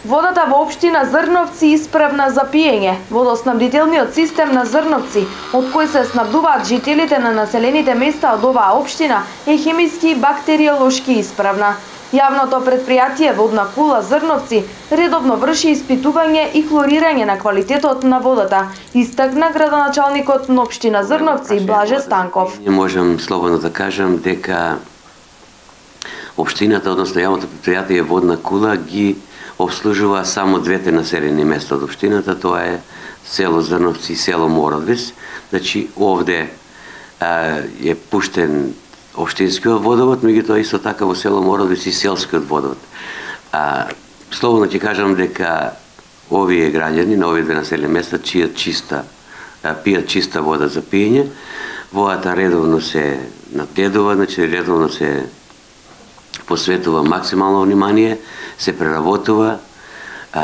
Водата во општина Зрновци исправна за пиење. Водоснабдителниот систем на Зрновци, од кој се снабдуваат жителите на населените места од оваа општина, е хемиски и бактериолошки исправна. Јавното предпријатие Водна кула Зрновци редовно врши испитување и хлорирање на квалитетот на водата, истакна градоначалникот на општина Зрновци Блаже Станков. Можам слободно да кажам дека општината, односно јавното предпријатие Водна кула ги обслужува само двете населени места од општината, тоа е село Зрновци и село Мородвис. Значи овде е пуштен општинскиот водовод, меѓутоа исто така во село Мородвис и селскиот водовод. Слободно ќе кажам дека овие граѓани на овие две населени места пијат чиста вода за пиење. Водата редовно се надгледува, значи редовно се посветува максимално внимание, се преработува,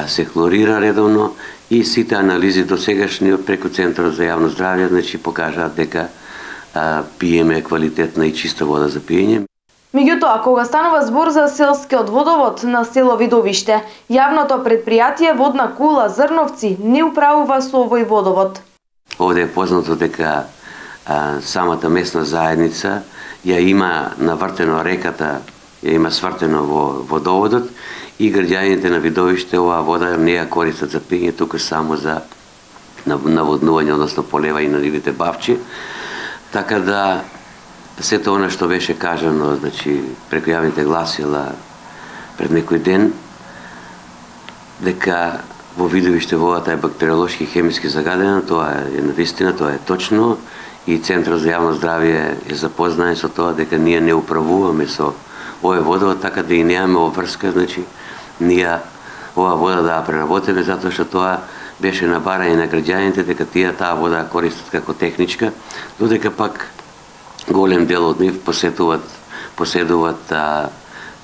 се хлорира редовно и сите анализи до сегашни преку Центарот за јавно здравје, значи покажаат дека пиеме квалитетна и чиста вода за пиење. Меѓутоа, кога станува збор за селскиот водовод на село Видовиште, јавното предпријатие Водна кула Зрновци не управува со овој водовод. Овде е познато дека самата местна заедница ја има навртено реката, ја има свртено во водоводот и граѓаните на Видовиште оваа вода не ја користат за пиење, туку само за наводнување, односно полева и на нивните бавчи. Така да сето она што беше кажано, значи преку јавните гласила пред некој ден, дека во Видовиште водата е бактериолошки и хемиски загадена, тоа е навистина, тоа е точно и Центарот за јавно здравје е запознаен со тоа дека ние не управуваме со овој водовод, така да и немаме обврска, значи ние оваа вода да ја преработиме, затоа што тоа беше на барање на граѓаните дека таа вода ја користат како техничка, додека пак голем дел од нив поседуваат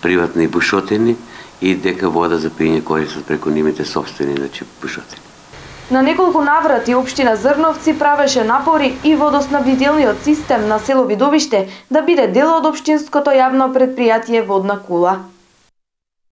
приватни бушотини и дека вода за пиење користат преку нивните сопствени, значи бушотини. На неколку наврати општина Зрновци правеше напори и водоснабдителниот систем на село Видовиште да биде дел од општинското јавно предпријатие Водна кула.